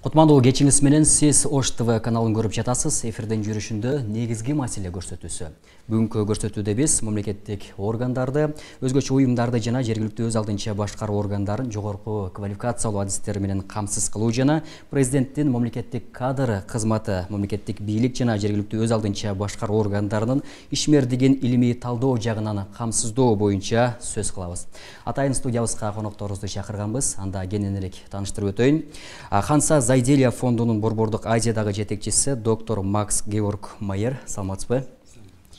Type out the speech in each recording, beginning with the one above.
Кутмандуу кечиңиз менен сиз Ош ТВ каналын көрүп жатасыз. Эфирден жүрүшүндө негизги маселе көрсөтүүсү. Бүгүнкү көрсөтүүдө биз мамлекеттик органдарды, өзгөчө уюмдарды жана жергиликтүү өз алдынча башкаруу органдарын жогорку квалификациялуу адистер менен камсыз кылуу жана президенттин мамлекеттик кадр кызматы, мамлекеттик бийлик жана жергиликтүү өз алдынча башкаруу органдарынын ишмердигин илимий талдоо жагынан камсыздоо боюнча сөз кылабыз. Атайын студиябызга конокторубузду чакырганбыз. Анда кененирээк тааныштырып өтөйүн. Ханса Зайделия фондунун Борбордук Азиядагы жетекчиси доктор Макс Георг Майер. Саламатсызбы?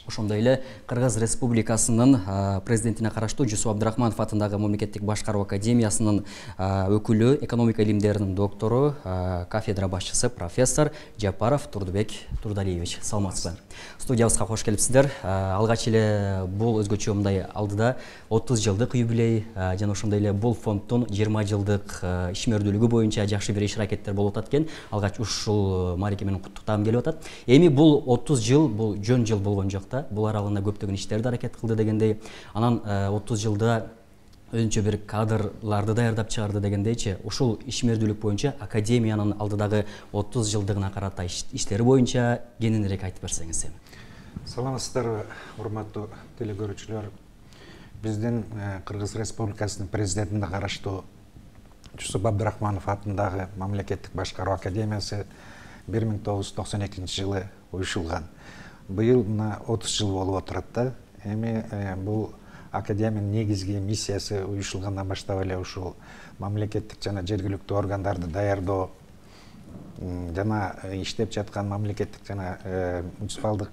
Ошондой эле Кыргыз Республикасынын президентине караштуу Жусуп Абдрахманов атындагы мамлекеттик башкаруу академиясынын өкүлү, экономика илимдеринин доктору, кафедра башчысы профессор Жапаров Турдубек Турдалиевич. Саламатсызбы? Студиябызга кош келипсиздер. Алгач эле бул өзгөчө мындай алдыда 30 жылдык юбилей жана ошондой эле бул фонддун 20 жылдык ишмердүүлүгү боюнча жакшы бир иш-аракеттер болуп атат экен. Алгач ушул маареке менен куттуктагым келип атат. Эми бул 30 жыл, бул жөн жыл болгон жок. Бул аралыгында көптөгөн иштерди аракет кылды дегендей, анан 30 жылда өзүнчө бир кадрларды даярдап чыгарды дегендейчи, ушул ишмердүүлүк боюнча академиянын алдыдагы 30 жылдыгына карата иштери боюнча кененирээк айтып берсеңиз. Саламатсыздарбы, урматтуу телекөрүүчүлөр. Биздин Кыргыз Республикасынын президентине караштуу Жусуп Абдрахманов атындагы мамлекеттик башкаруу академиясы 1992 жылы уюшулган. Быйыл мына 30 жыл болуп отурат да. Эми бул академиянын негизги миссиясы уюшулгандан баштап эле ушул мамлекеттик жана жергиликтүү органдарды даярдоо жана иштеп жаткан мамлекеттик жана муниципалдык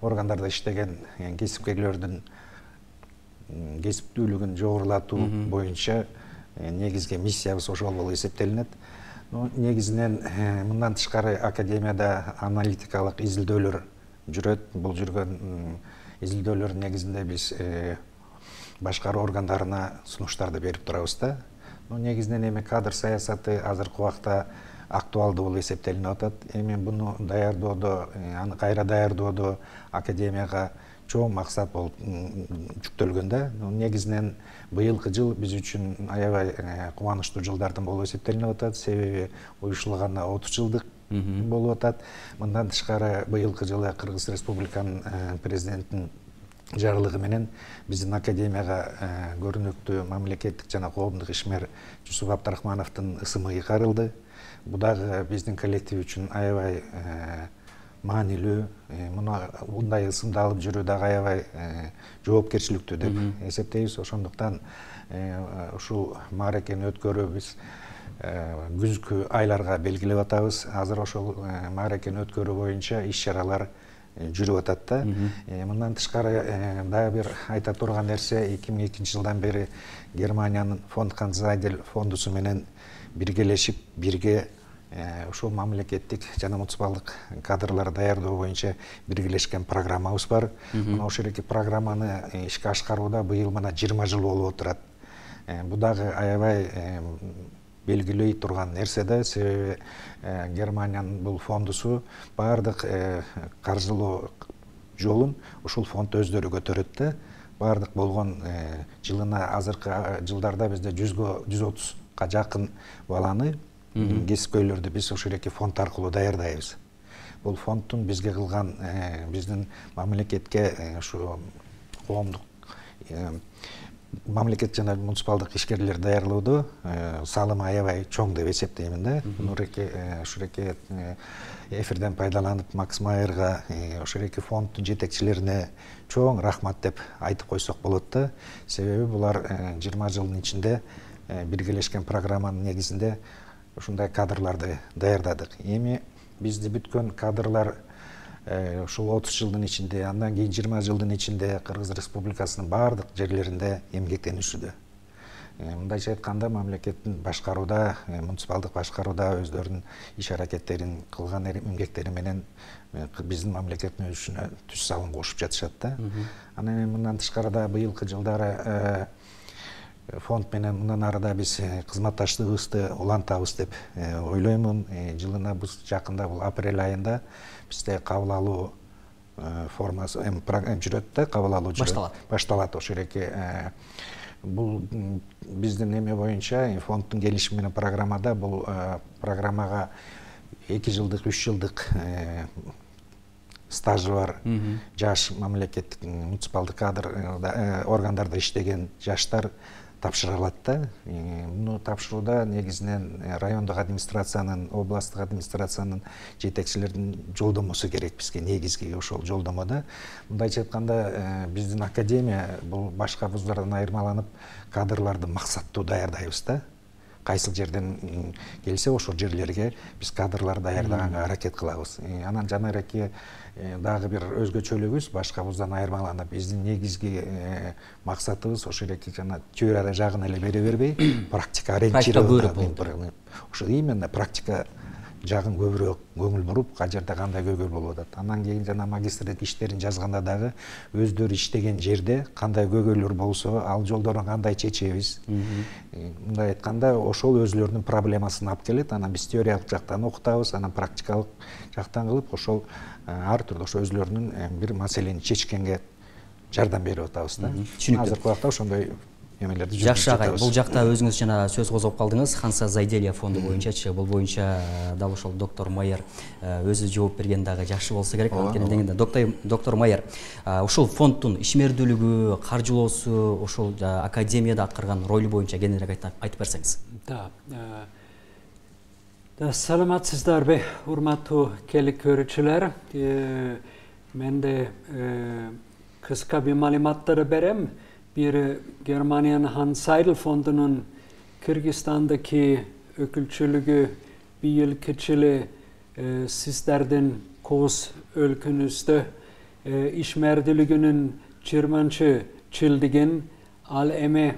органдарда иштеген кесипкерлердин кесиптүүлүгүн жогорулатуу боюнча негизги миссиябыз ошол болуп эсептелинет. Негизинен мындан тышкары академияда аналитикалык изилдөөлөр жүрөт. Бул жүргөн изилдөөлөр негизинде биз башкаруу органдарына сунуштарды берип турабыз да. Негизинен эми кадр саясаты азыркы убакта актуалдуу болуп эсептелинип атат. Эми буну даярдоодо, аны кайра даярдоодо академияга чоң максат болуп жүктөлгөн да. Негизинен быйылкы жыл биз үчүн аябай кубанычтуу жылдардан болуп эсептелинип атат. Себеби уюшулганына 30 жылдык болуп атат. Мындан тышкары быйылкы жылы Кыргыз Республиканын президентинин жарлыгы менен биздин академияга көрүнүктүү мамлекеттик жана коомдук ишмер Жусуп Абдрахмановдун ысымы ыйгарылды. Бул дагы биздин коллектив үчүн аябай маанилүү. Мындай ысымды алып жүрүү дагы аябай жоопкерчиликтүү деп эсептейбиз. Ошондуктан ушул мааракени өткөрүү биз күзгү айларга белгилеп атабыз. Азыр ошол мааракени өткөрүү боюнча иш-чаралар жүрүп атат да. Мындан тышкары дагы бир айта турган нерсе, 2002 жылдан бери Германиянын фонд Ханзайдел фондусу менен биргелешип, бирге ушул мамлекеттик жана муниципалдык кадрларды даярдоо боюнча биргелешкен программабыз бар. Мына ошол эки программаны ишке ашкарууда быйыл мына 20 жыл болуп отурат. Бул дагы аябай белгилей турган нерсе да. Себеби Германиянын бул фондусу баардык каржылоо жолун ушул фонд өздөрү көтөрөт да. Баардык болгон жылына азыркы жылдарда бизде 130га жакын баланы, кесипкөйлөрдү биз ушул эки фонд аркылуу даярдайбыз. Бул фонддун бизге кылган биздин мамлекетке ушу коомдук мамлекет жана муниципалдык ишкерлер даярлоодо салымы аябай чоң деп эсептеймин да. Ушул эки эфирден пайдаланып Макс Майерга, ошол эки фонддун жетекчилерине чоң рахмат деп айтып койсок болот да. Себеби булар 20 жылдын ичинде биргелешкен программанын негизинде ушундай кадрларды даярдадык. Эми бизди бүткөн кадрлар ушул 30 жылдын ичинде, андан кийин 20 жылдын ичинде Кыргыз Республикасынын баардык жерлеринде эмгектенишүүдө. Мындайча айтканда, мамлекеттин башкарууда, муниципалдык башкарууда өздөрүнүн иш-аракеттерин кылган эмгектери менен биздин мамлекеттин өсүшүнө түз салым кошуп жатышат да. Анан эми мындан тышкары да быйылкы жылдары фонд менен мындан арыда биз кызматташтыгыбызды улантабыз деп ойлоймун. Жылына биз жакында бул апрель айында бизде кабыл алуу формасы жүрөт да, кабыл алуу башталат. Ошол эки Бул биздин эме боюнча фонддун келишими менен программада бул программага 2 жылдык 3 жылдык стажы бар жаш мамлекеттик муниципалдык кадр органдарда иштеген жаштар тапшыра алат да. Муну тапшырууда негизинен райондук администрациянын, областтык администрациянын жетекчилеринин жолдомосу керек бизге, негизги ошол жолдомода. Мындайча айтканда, биздин академия бул башка вуздардан айырмаланып кадрларды максаттуу даярдайбыз да. Кайсыл жерден келсе ошол жерлерге биз кадрлар даярдаганга аракет кылабыз. Анан жанагы дагы бир өзгөчөлүгүбүз башка вуздан айырмаланып биздин негизги максатыбыз ошол эки жана теория жагын эле бере бербей, практика ориентированный. Ошо именно практика жагын көбүрөөк көңүл буруп, кай жерде кандай көйгөй болуп атат. Андан кийин жана магистрлик иштерин жазганда дагы өздөрү иштеген жерде кандай көйгөйлөр болсо, ал жолдорун кандай чечебиз. Мындай айтканда, ошол өзлөрүнүн проблемасын алып келет. Анан биз теориялык жактан окутабыз, анан практикалык жактан кылып, ошол ар түрдүү ошо өзлөрүнүн бир маселени чечкенге жардам берип атабыз да. Азыркы убакта ошондой эмелерди жүргүзүп жакшы агай, бул жакта өзүңүз жана сөз козгоп калдыңыз. Ханса Зайделия фонду боюнчачы, бул боюнча дал ошол доктор Майер өзү жооп берген дагы жакшы болсо керек. Анткени дегенде доктор Майер, ушул фонддун ишмердүүлүгү, каржылоосу, ошол академияда аткарган ролу боюнча кененирээк айтып берсеңиз. Да, саламатсыздарбы, урматтуу келик көрүүчүлөр. Менде кыска бир маалыматтарды берем. Bir Germaniyanın Hans Seidel Fondu'nun Kırgızistan'daki ökülçülüğü bir yıl keçili sizlerden koz өлkünüzde işmerdülüğünün 20. çildigin al eme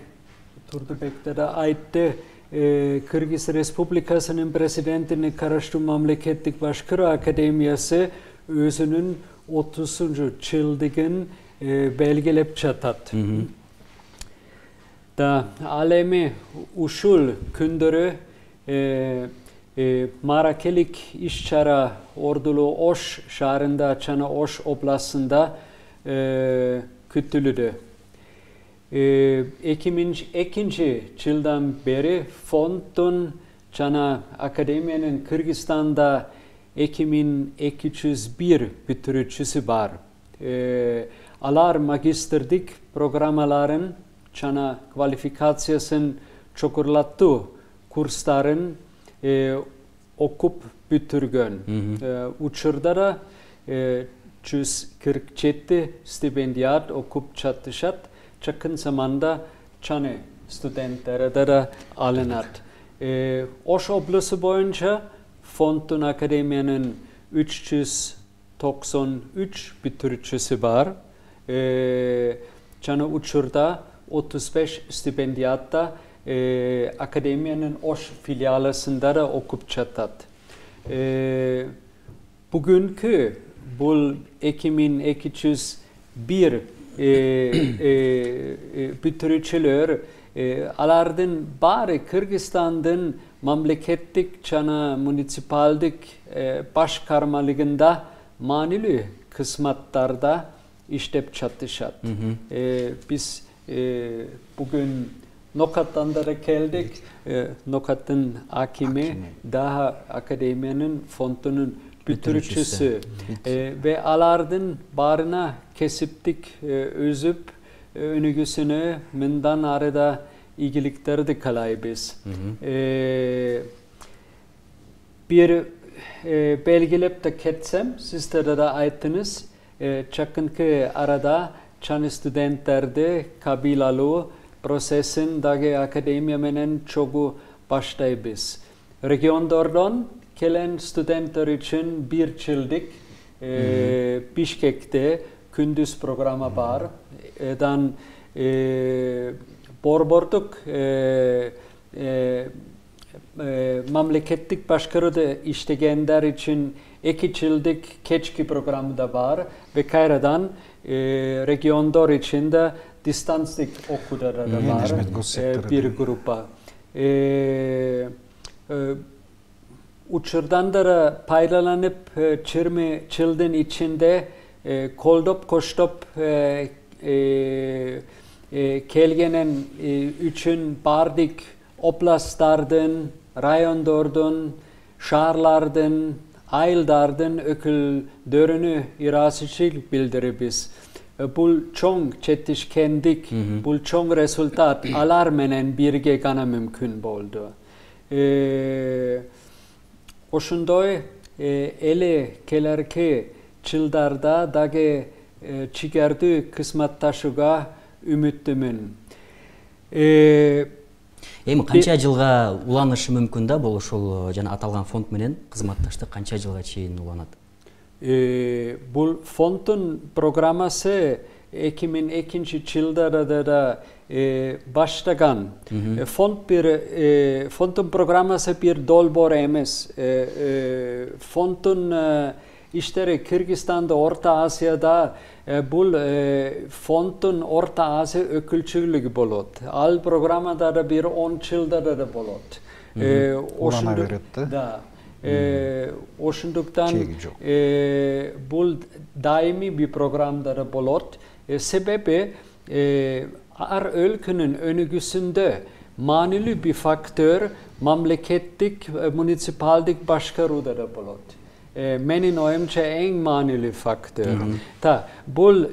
Turdubek'te de aitti Kırgız Respublikası'nın presidentini Karaştı Mamleketlik Başkırı Akademiyası özünün 30. çildigin belgelep çatat. Da alemi uşul kündürü Marakelik işçara ordulu Oş şahrında Çana Oş oblasında kütülüdü. 2002 yıldan beri fondun Çana Akademiyanın Kırgızistan'da 2201 bitiricisi var. Alar magisterlik programmaların Çana kvalifikasyon çokurlattığı kursların okup bitirgen. Uçurda da 147 stipendiyat okup çatışat. Çakın zamanda Çana studentlere de alınat. Oş oblası boyunca fondun akademiyanın 393 bitiricisi var. Çana uçurda 35 stipendiyatta akademiyanın Oş filialasında da okup çatat. Bugünkü bu 2201 bitiriciler alardın bari Kırgızistan'ın mamleketlik Çana municipaldik başkarmalığında manili kısmatlarda iştep çatışat. Biz bugün Nokat'tan da geldik. Nokat'ın hakimi daha akademiyanın fondunun bitiricisi ve alardın barına kesiptik özüp önügüsünü mindan arada ilgilikleri kalaybız. Bir belgelep de ketsem sizlere de ayttınız. Çakınkı arada Çan studentlerde kabilalı prosesin dagi akademiya menen çoğu başlaybız. Regiondordan gelen studentler için bir yıllık Bişkek'te gündüz programı var. Dan Borborduk mamleketlik başkarıda işleyenler için 2 yıllık keçki programı da var ve Kayra'dan regiondor için de distanslık okuları da var bir grupa. Uçurdan da paylanıp 20 yılın içinde koldop koştop келгенен үчүн бардык областтардын, райондордун, шаарлардын, айылдардын өкүлдөрүнө ыраазычылык билдиребиз. Бул чоң жетишкендик, бул чоң результат алар менен бирге гана мүмкүн болду. Ошондой эле келерки жылдарда дагы чигердүү кызматташууга үмүттүмүн. Эми канча жылга уланышы мүмкүн да бул ошол жана аталган фонд менен кызматташтык канча жылга чейин уланат? Бул фонддун программасы 2002 жылдарда да баштаган. Фонддун программасы бир долбоор эмес. Фонддун иштери Кыргызстанда, Орто Азияда бул фонддун Орто Азия өкүлчүлүгү болот. Ал программада да бир 10 жылда да болот. Улана берет да. Ошондуктан бул дайыми бир программада да болот. Себеби ар өлкөнүн өнүгүүсүндө маанилүү бир фактор мамлекеттик, муниципалдык башкарууда да болот. Менин оюмча эң маанилүү фактор. Бул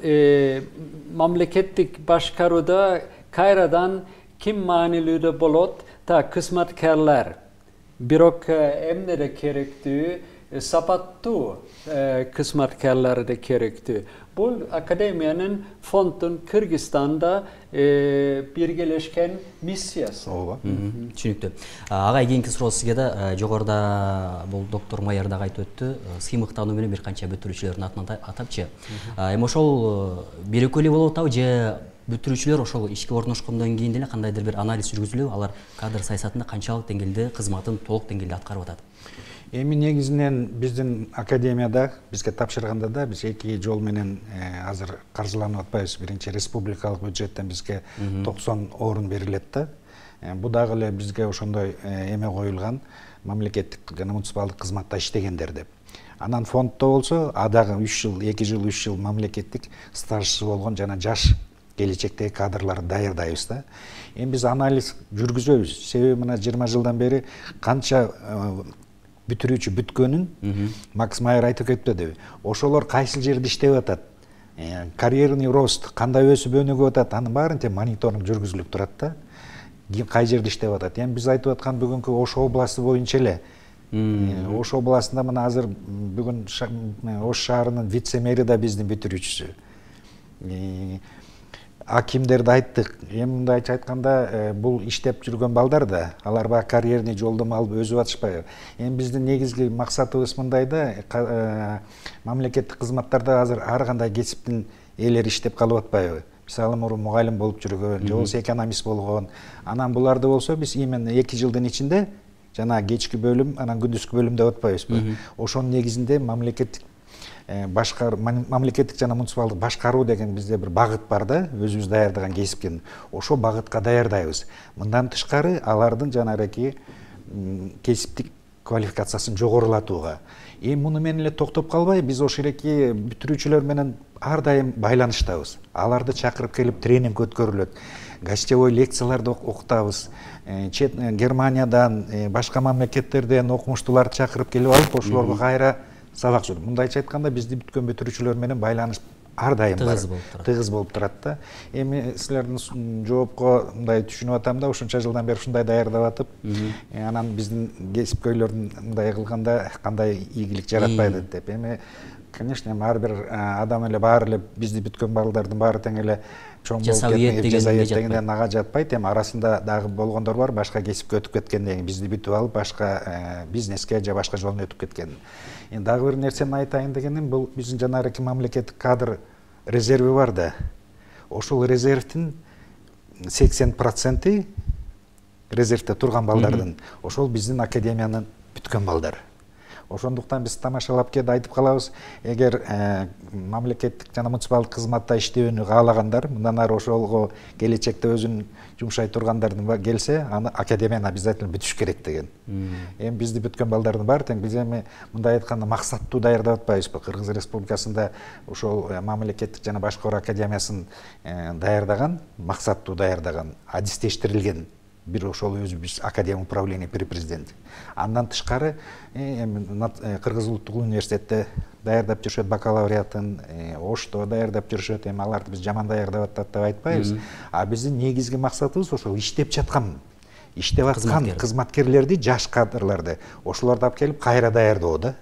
мамлекеттик башкарууда кайрадан ким маанилүү да болот? Кызматкерлер. Бирок эмне да керектүү? Сапаттуу кызматкерлер да керектүү. Бул академиянын фонддун Кыргызстанда биргелешкен миссиясы. Ооба. Түшүнүктүү. Ага кийинки суроо сизге да жогоруда бул доктор Майыр дагы айтып өттү. Сыймыктануу менен бир канча бүтүрүүчүлөрдүн атын атапчы. Эми ошол бирөкөө эле болуп атабы же бүтүрүүчүлөр ошол ишке орношкондон кийин деле кандайдыр бир анализ жүргүзүлүп, алар кадр саясатында канчалык деңгээлде кызматын толук деңгээлде аткарып атат? Эми негизинен биздин академияда бизге тапшырганда да биз эки жол менен азыр каржыланып атпайбыз. Биринчи республикалык бюджеттен бизге 90 орун берилет да. Бу дагы эле бизге ошондой эме коюлган, мамлекеттик жана муниципалдык кызматта иштегендер деп. Анан фонддо болсо дагы 3 жыл, 2 жыл, 3 жыл мамлекеттик стажчысы болгон жана жаш келечектеги кадрларды даярдайбыз да. Эми биз анализ жүргүзөбүз. Себеби мына 20 жылдан бери канча бүтүрүүчү бүткөнүн Макс Майер айтып кетпедиби? Ошолор кайсы жерде иштеп атат? Карьерный рост кандай өсүп өнүгүп атат? Анын баарын мониторинг жүргүзүлүп турат да. Кай жерде иштеп атат? Эми биз айтып аткан бүгүнкү Ош областы боюнча эле. Ош областында мына азыр бүгүн Ош шаарынын вице-мэри да биздин бүтүрүүчүсү. Акимдерди айттык. Эми мындайча айтканда, бул иштеп жүргөн балдар да, алар баягы карьерный жолдомо алып өсүп атышпайбы? Эми биздин негизги максатыбыз мындай да, мамлекеттик кызматтарда азыр ар кандай кесиптин ээлери иштеп калып атпайбы? Мисалы, мурун мугалим болуп жүргөн, же болбосо экономист болгон. Анан буларды болсо биз именно 2 жылдын ичинде жана кечки бөлүм, анан күндүзгү бөлүм деп атпайбызбы? Ошонун негизинде мамлекеттик жана муниципалдык башкаруу деген бизде бир багыт бар да, өзүбүз даярдаган кесипкен. Ошол багытка даярдайбыз. Мындан тышкары алардын жанагы кесиптик квалификациясын жогорулатууга. Эми муну менен эле токтоп калбай, биз ошол эки бүтүрүүчүлөр менен ар дайым байланыштабыз. Аларды чакырып келип тренинг өткөрүлөт. Гостевой лекцияларды окутабыз. Германиядан, башка мамлекеттерден окумуштууларды чакырып келип алып, ошолорго кайра сабак жүрүп. Мындайча айтканда, бизди бүткөн бүтүрүүчүлөр менен байланыш ар дайым бар. Тыгыз болуп турат да. Эми силердин жоопко мындай түшүнүп атам да, ушунча жылдан бери ушундай даярдап атып, анан биздин кесипкөйлөрдүн мындай кылганда кандай ийгилик жаратпайды деп. Эми, конечно, ар бир адам эле баары эле бизди бүткөн балдардын баары тең эле чоң болуп кеткен дегенден ага жатпайт. Эми арасында дагы болгондор бар, башка кесипке өтүп кеткенден кийин бизди бүтүп алып, башка бизнеске же башка жолдон өтүп кеткен. Эми дагы бир нерсени айтайын дегеним, бул биздин жанагы мамлекеттик кадр резерви бар да. Ошол резервдин 80% резервде турган балдардын ошол биздин академиянын бүткөн балдар. Ошондуктан биз тамашалап келип айтып калабыз, эгер мамлекеттик жана муниципалдык кызматта иштөөнү каалагандар, мындан ары ошолго келечекте өзүн жумшай тургандардын келсе, аны академияны обязательно бүтүш керек деген. Эми бизди бүткөн балдардын баары тең, биз эми мындай айтканда максаттуу даярдап атпайбызбы? Кыргыз Республикасында ошол мамлекеттик жана башкаруу академиясын даярдаган, максаттуу даярдаган, адистештирилген бир ошол өзүбүз академия управления при президенте. Андан тышкары эми Кыргыз улуттук университетте даярдап жүрүшөт бакалавриатын, Ошто даярдап жүрүшөт. Эми аларды биз жаман даярдап атат деп айтпайбыз. А биздин негизги максатыбыз ошол иштеп жаткан, иштеп аткан кызматкерлерди, жаш кадрларды, ошолорду алып келип кайра даярдоо да.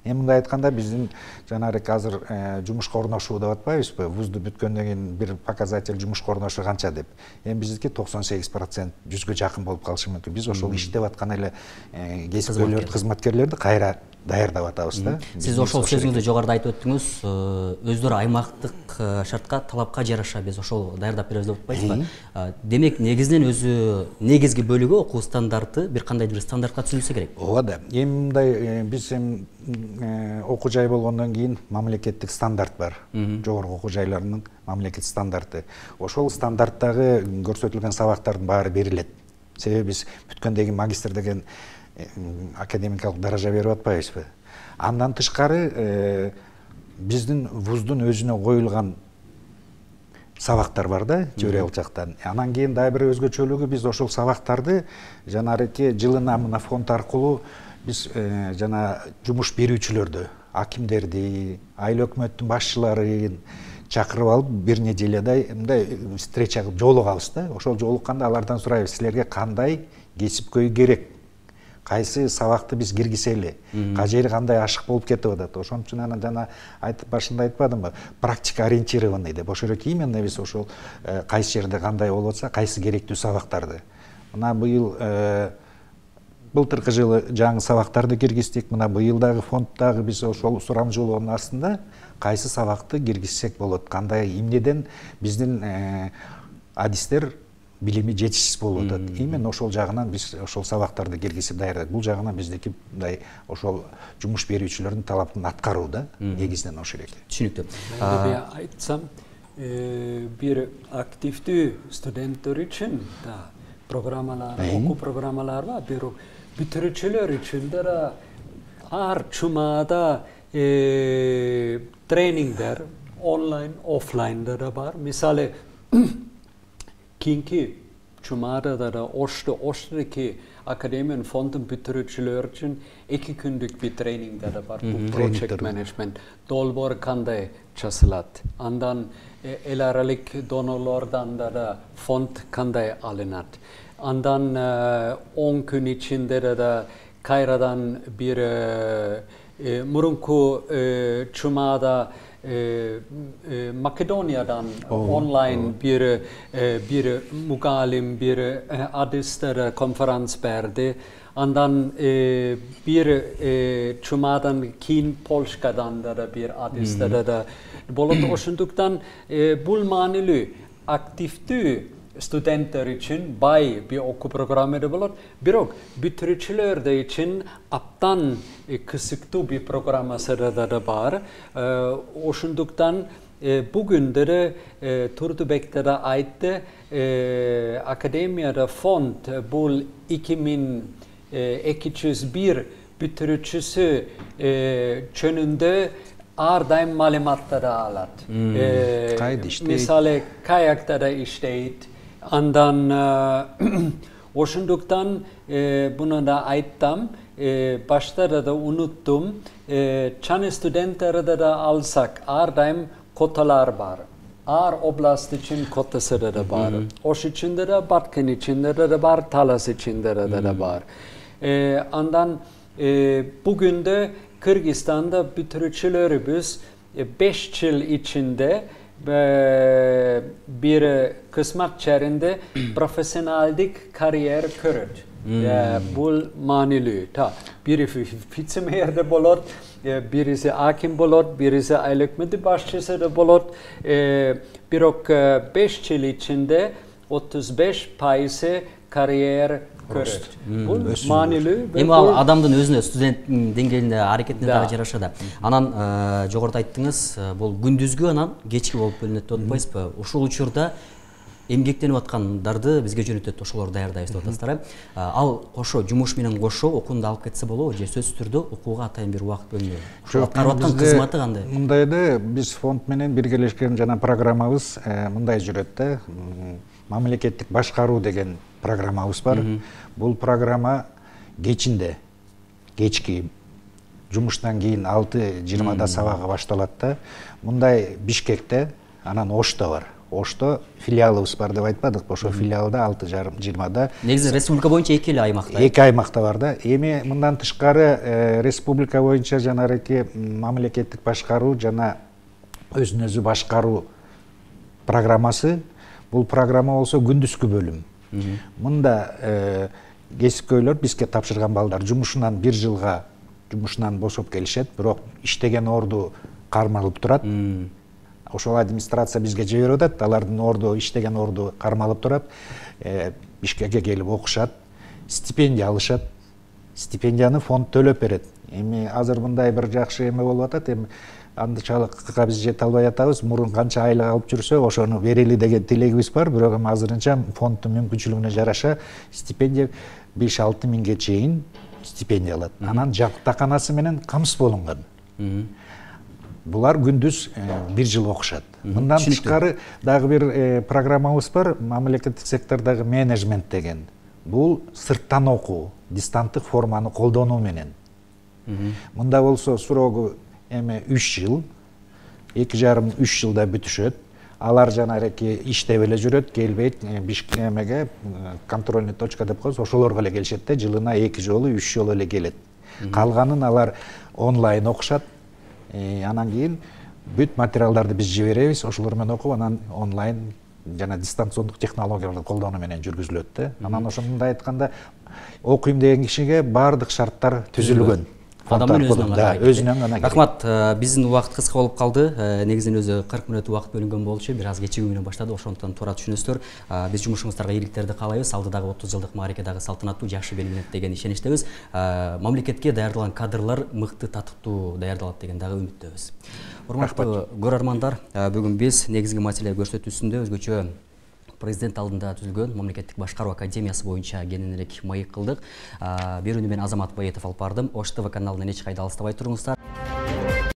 Эми мындай айтканда биздин жанагы азыр жумушка орношуу деп атпайбызбы? Вузду бүткөндөн кийин бир показатель жумушка орношуу канча деп. Эми биздики 98% 100гө жакын болуп калышы мүмкүн. Биз ошол иштеп аткан эле кесипкөйлөрдү, кызматкерлерди кайра даярдап атабыз да. Сиз ошол сөзүңүздө жогоруда айтып өттүңүз, өздөрү аймактык шартка, талапка жараша биз ошол даярдап беребиз деп атпайсызбы? Демек негизинен өзү негизги бөлүгү окуу стандарты бир кандайдыр бир стандартка түзүлсө керек. Ооба да. Эми мындай биз окуу жай болгондон кийин мамлекеттик стандарт бар. Жогорку окуу жайларынын мамлекеттик стандарты. Ошол стандарттагы көрсөтүлгөн сабактардын баары берилет. Себеби биз бүткөндөн кийин магистр деген академикалык даража берип атпайбызбы? Андан тышкары биздин вуздун өзүнө коюлган сабактар бар да, теориялык жактан. Анан кийин дагы бир өзгөчөлүгү, биз ошол сабактарды жанагы жылына мына фонд аркылуу биз жана жумуш берүүчүлөрдү, акимдерди, айыл өкмөттүн башчыларын чакырып алып, бир нежеледай мындай встреча кылып жолугабыз да. Ошол жолукканда алардан сурайбыз, силерге кандай кесипкөй керек? Кайсы сабакты биз киргизели? Кай жери кандай ашык болуп кетип атат? Ошон үчүн анан жана айтып башында айтпадымбы? Практика ориентированный деп. Ошол эле именно биз ошол кайсы жерде кандай болуп атса, кайсы керектүү сабактарды. Мына быйыл былтыркы жылы жаңы сабактарды киргиздик. Мына быйыл дагы фонддагы биз ошол сурам жолоонун астында кайсы сабакты киргизсек болот? Кандай эмнеден биздин адистер билими жетишсиз болуп атат. Именно ошол жагынан биз ошол сабактарды киргизип даярдайбыз. Бул жагынан биздики мындай ошол жумуш берүүчүлөрдүн талабын аткаруу да, негизинен ошол экен. Түшүнүктүү. Мен айтсам, бир активдүү студенттер үчүн да программалар, окуу программалар бар. Бирок бүтүрүүчүлөр үчүн да ар чумада тренингдер онлайн, офлайнда да бар. Мисалы кийинки чумада да Оштодоки академиянын фондун бүтүрүүчүлөр үчүн 2 күндүк бир тренингдер да бар. Бул project management, долбоор кандай часылат. Андан эл аралык донорлордон да фонд кандай алынат. Андан 10 күн ичинде да кайрадан бир мурунку чумада Македониядан онлайн бир мугалим, бир адистер конференц берди. Андан бир чумадан кийин Польшадан да бир адистер да болот. Ошондуктан бул маанилүү активдүү студенттер үчүн бай бир окуу программада болот. Бирок бүтүрүүчүлөр үчүн аптан кысыктуу бир программасы да бар. Ошондуктан бүгүндө Турдубекте да айтты, академияда фонд бул 2201 бүтүрүүчүсү жөнүндө ар дайым маалыматтар алат. Мисалы каякта да иштейт. Андан ошондуктан буну да айттым, башта да унуттум, чаны студенттерди да алсак ар дайым коталар бар. Ар област үчүн котасы да бар. Ош ичинде да, Баткен ичинде да бар, Талас ичинде да бар. Андан бүгүндө Кыргызстанда бүтүрүүчүлөрүбүз 5 жыл ичинде бир кызмат жеринде профессионалдык карьера көрөт. Бул маанилүү. Бири вице-мэрде болот, бириси аким болот, бириси айыл өкмөтү башчысы да болот. Бирок 5 жыл ичинде 35% карьера көрөт. Бул маанилүү. Эми ал адамдын өзүнө, студенттин деңгээлинде, аракетине дагы жараша да. Анан жогоруда айттыңыз, бул күндүзгү анан кечки болуп бөлүнөт деп атпайсызбы? Ушул учурда эмгектенип аткандарды бизге жөнөтөт, ошолорду даярдайбыз деп атасыздар. Ал кошо жумуш менен кошо окууну алып кетсе болобу же сөзсүз түрдө окууга атайын бир убакыт бөлүнөбү? Ошол аткарып аткан кызматы кандай? Мындайды, биз фонд менен биргелешкен жана программабыз мындай жүрөт да. Мамлекеттик башкаруу деген программабыз бар. Бул программа кечинде, кечки жумуштан кийин 6:20 сабагы башталат да. Мындай Бишкекте, анан Ошто бар. Ошто филиалыбыз бар деп айтпадыкпы? Ошо филиалда 6:20. Негизи республика боюнча эки эле аймакта. Эки аймакта бар да. Эми мындан тышкары республика боюнча жанагы мамлекеттик башкаруу жана өзүн өзү башкаруу программасы. Бул программа болсо күндүзгү бөлүм. Мында кесипкөйлөр бизге тапшырган балдар жумушунан 1 жылга жумушунан бошоп келишет, бирок иштеген орду кармалып турат. Ошол администрация бизге жиберип атат, алардын орду, иштеген орду кармалып турат. Бишкекке келип окушат, стипендия алышат. Стипендияны фонд төлөп берет. Эми азыр мындай бир жакшы эме болуп атат. Эми андычалыкка биз жете албай атабыз. Мурун канча айлык алып жүрсө, ошону берели деген тилегибиз бар. Бирок эми азырынча фонддун мүмкүнчүлүгүнө жараша стипендия 5-6 миңге чейин стипендия алат. Анан жатаканасы менен камсыз болунган. Булар күндүз 1 жыл окушат. Мындан тышкары дагы бир программабыз бар, мамлекеттик сектордогу менеджмент деген. Бул сырттан окуу, дистанттык форманы колдонуу менен. Мында болсо сурогу эми 3 жыл, 2,5-3 жылда бүтүшөт. Алар жанагы иштеп эле жүрөт, келбейт, Бишкекке контрольный точка деп коебуз, ошолорго эле келишет да, жылына 2 жолу, 3 жолу эле келет. Калганын алар онлайн окушат. Анан кийин бүт материалдарды биз жиберебиз, ошолор менен окуп, анан онлайн жана дистанциондук технологияларды колдонуу менен жүргүзүлөт да. Анан ошондой айтканда, окуйм деген кишиге баардык шарттар түзүлгөн. Адамдын өзүнөн гана. Рахмат, биздин убакыт кыска болуп калды. Негизинен өзү 40 мүнөт убакыт бөлүнгөн болчу, бир аз кечигүү менен баштады, ошондуктан туура түшүнөсүздөр. Биз жумушуңуздарга ийгиликтерди каалайбыз. Алдыдагы 30 жылдык маарике дагы салтанаттуу, жакшы белгиленет деген ишеничтебиз. Мамлекетке даярдалган кадрлар мыкты, татыктуу даярдалат деген дагы үмүттөбүз. Урматтуу көрөрмандар, бүгүн биз негизги маселе көрсөтүүсүндө өзгөчө президент алдында түзүлгөн мамлекеттик башкаруу академиясы боюнча кененирээк маек кылдык. Берүүнү мен Азамат Баетов алып бардым. Ош ТВ каналынан эч кайда алыстабай туруңуздар.